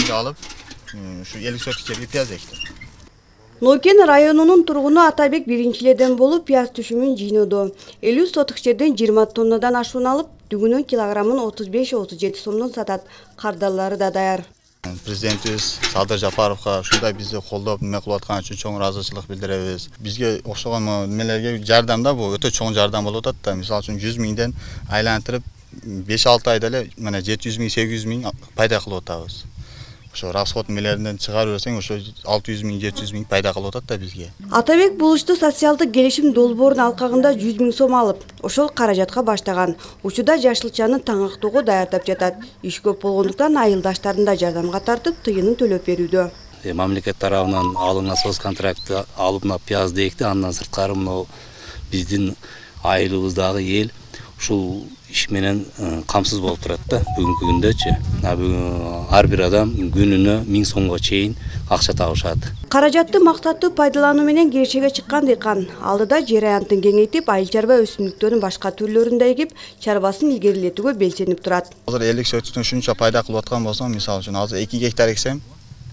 жерге алып, ушу 50 соток жерге пияз эктим. Нойкен районунун тургуну Атабек биринчилерден болуп пияз түшүмүн жыйноодо. 50 соток жерден 20 тоннадан ашуун алып, дүгүнүн килограммын 35-37 сомдон сатат. Кардалары да даяр. Президентибиз Садыр Жапаровго ушундай бизди колдоп эме кылып аткан үчүн чоң ыраазычылык билдиребиз. Бизге окшогон немелерге жардамда бул өтө чоң жардам болуп атат да. Мисалы үчүн 100 миңден айлантырып 5-6 айда эле мына 700 миң, 800 миң пайда кылып атабыз. Ошо расход мелеринен чыгарып берсең, ошо 600 миң, 700 миң пайда кылып атат да бизге. Атабек булушту социалдык келишим долбоорунун алкагында 100 миң сом алып, ошол каражатка баштаган. Учурда жашылчаны таңактоого даярдап жатат. Иш көп болгондуктан айылдаштарын да жардамга тартып, тыйынын төлөп берүүдө. Мамлекет тарабынан алынган соц контрактты алып мына пиязды экти, андан сырткары мына биздин айылыбыздагы эл ушул иш менен камсыз болуп турат да бүгүнкү күндөчү. Ар бир адам күнүнө 1000 сомго чейин акча табышат. Каражатты максаттуу пайдалануу менен кирешеге чыккан дыйкан алдыда жер аянтын кеңейтип, айыл чарба өсүмдүктөрүн башка түрлөрүн да эгип, чарбасын илгерилетүүгө белсенип турат. Азыр 50 сотоктон ушунча пайда кылып аткан болсом, мисалы үчүн азыр 2 гектар эксем,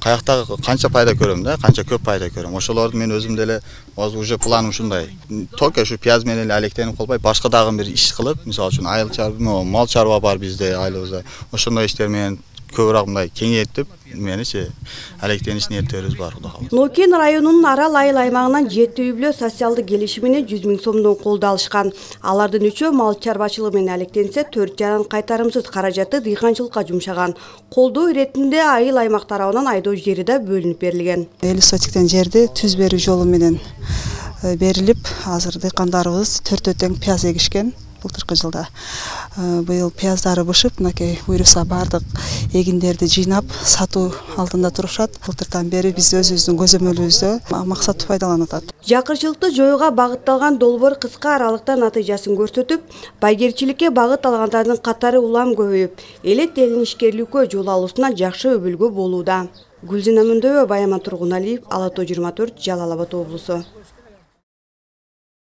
каяктагы канча пайда көрөм да, канча көп пайда көрөм. Ошолорду мен өзүм деле уже планым ушундай. Только ушу пияз менен эле алектенип калбай, башка дагы бир иш кылып, мисалы үчүн айыл чарба, мал чарба бар бизде айылыбызда. Ошондой иштер менен көбүрөөк мындай кеңейтип, меничи алектениш ниеттерибиз бар, Кудай кааласа. Нойкен районунун Арал айыл аймагынан 7 үй-бүлө социалдык келишимине 100 миң сомдон колдоо алышкан. Алардын 3-өө мал чарбачылыгы менен алектенсе, 4 жаран кайтарымсыз каражатты дыйканчылыкка жумшаган. Колдоо иретинде айыл аймак тарабынан айдоо жери да бөлүнүп берилген. 50 сотиктен жерди түз берүү жолу менен берилип, азыр дыйкандарыбыз 4 тең пияз эгишкен. Былтыркы жылда быйыл пияздары бышып, мынакей буйруса бардык эгиндерди жыйнап сатуу алдында турушат. Былтырдан бери биз өзүбүздүн көзөмөлүбүздө максаттуу пайдаланып атат. Жакырчылыкты жоюуга багытталган долбоор кыска аралыкта натыйжасын көрсөтүп, байгерчиликке багыт алгандардын катары улам көбөйүп, элет элин ишкерликкө жол алуусуна жакшы өбүлгө болууда. Гүлзина Мөндөбө, Баяман Тургуналиев, Ала Тоо 24, Жалал Абад облусу.